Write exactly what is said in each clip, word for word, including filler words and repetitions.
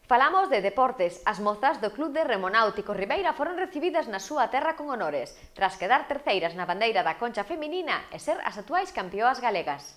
Falamos de deportes. As mozas do Club de Remo Náutico Ribeira foron recibidas na súa terra con honores, tras quedar terceiras na bandeira da concha feminina e ser as actuais campeoas galegas.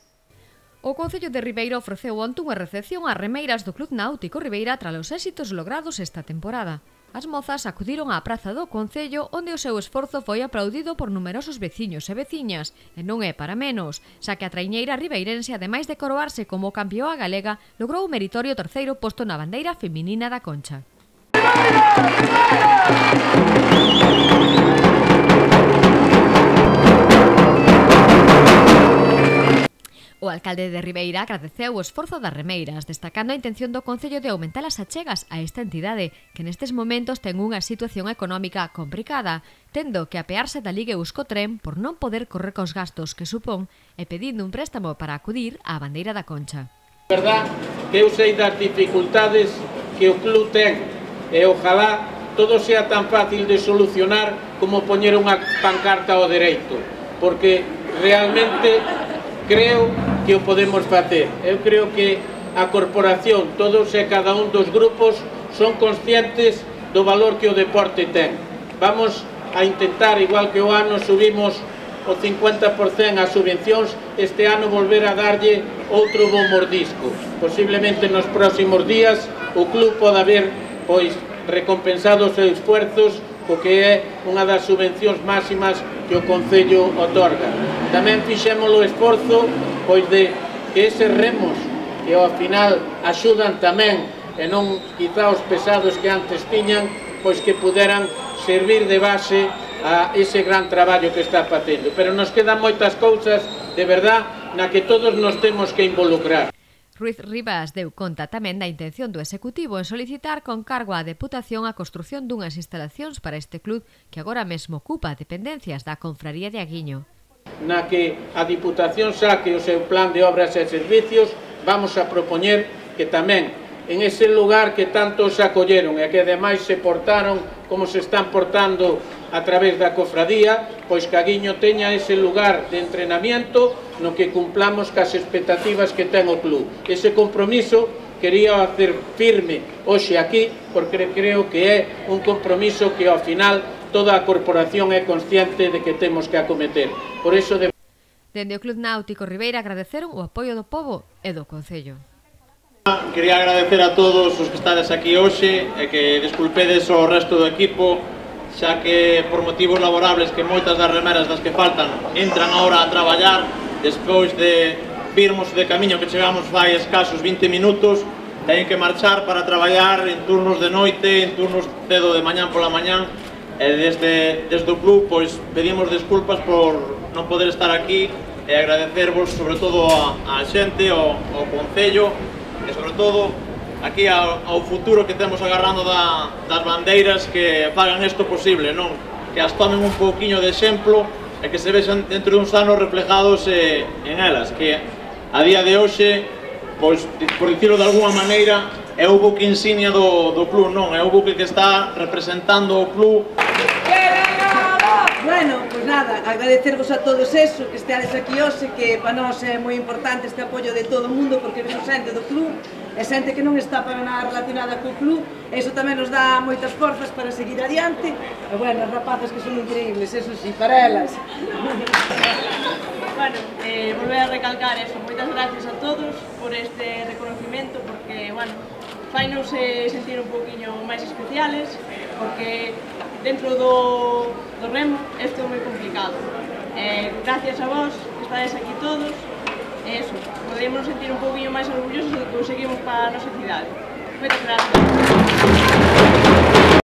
O Concello de Ribeira ofreceu onte unha recepción ás remeiras do Club Náutico Ribeira tras os éxitos logrados esta temporada. As mozas acudiron á praza do Concello, onde o seu esforzo foi aplaudido por numerosos veciños e veciñas, e non é para menos, xa que a traiñeira ribeirense, ademais de coroarse como campeoa galega, logrou o meritorio terceiro posto na bandeira feminina da Concha. O alcalde de Ribeira agradeceu o esforzo das remeiras, destacando a intención do Concello de aumentar as achegas a esta entidade, que nestes momentos ten unha situación económica complicada, tendo que apearse da Liga Euskotren por non poder correr cos gastos que supón e pedindo un préstamo para acudir á bandeira da Concha. É verdad que eu sei das dificultades que o club ten e ojalá todo sea tan fácil de solucionar como poñer unha pancarta ao dereito, porque realmente creo que o podemos facer. Eu creo que a corporación, todos e cada un dos grupos son conscientes do valor que o deporte ten. Vamos a intentar, igual que o ano subimos o cincuenta por cento as subvencións, este ano volver a darlle outro bo mordisco. Posiblemente nos próximos días o club poda ver pois recompensado os seus esfuerzos, o que é unha das subvencións máximas que o Concello otorga. Tamén fixemos o esforzo pois de que eses remos que ao final axudan tamén e non quizá os pesados que antes tiñan, pois que puderan servir de base a ese gran traballo que está facendo. Pero nos quedan moitas cousas de verdad na que todos nos temos que involucrar. Ruiz Rivas deu conta tamén da intención do Executivo en solicitar con cargo á Deputación a construción dunhas instalacións para este club que agora mesmo ocupa dependencias da Confraría de Aguiño. Na que a Diputación saque o seu plan de obras e servicios, vamos a propoñer que tamén en ese lugar que tanto se acolleron e que ademais se portaron como se están portando a través da cofradía, pois que Aguiño teña ese lugar de entrenamiento no que cumplamos cas expectativas que ten o club. Ese compromiso quería hacer firme hoxe aquí, porque creo que é un compromiso que ao final toda a corporación é consciente de que temos que acometer. Por iso de... Dende o Club Náutico Ribeira agradeceron o apoio do pobo e do Concello. Quería agradecer a todos os que estades aquí hoxe e que desculpedes o resto do equipo, xa que por motivos laborables que moitas das remeras das que faltan entran agora a traballar despois de virmos de camiño que chegamos fai escasos vinte minutos, teñen que marchar para traballar en turnos de noite, en turnos cedo de mañán pola mañán, e desde, desde o club pois pedimos desculpas por non poder estar aquí e agradecervos sobre todo a, a xente, ao, ao Concello e sobre todo aquí ao, ao futuro que temos agarrando da, das bandeiras que fagan isto posible, non? Que as tomen un pouquiño de exemplo e que se vexan dentro de uns anos reflejados eh, en elas, que a día de hoxe, pois, por dicirlo de alguma maneira, é o buque insignia do, do club, non? É o buque que está representando o club. Bueno, pois nada, agradecervos a todos eso, que esteades aquí hoxe, que para nós é moi importante este apoio de todo o mundo, porque vemos xente do club, e xente que non está para nada relacionada co club, e iso tamén nos dá moitas forzas para seguir adiante, e bueno, as rapazas que son increíbles, eso sí, para elas. Bueno, eh, volver a recalcar eso, moitas gracias a todos por este reconocimiento, porque, bueno, fainos eh, sentir un poquinho máis especiales, porque dentro do, do remo isto é moi complicado. Eh, gracias a vos, que estades aquí todos, e eso, podemos sentir un poquinho máis orgullosos do que conseguimos para a nosa cidade. Moitas gracias.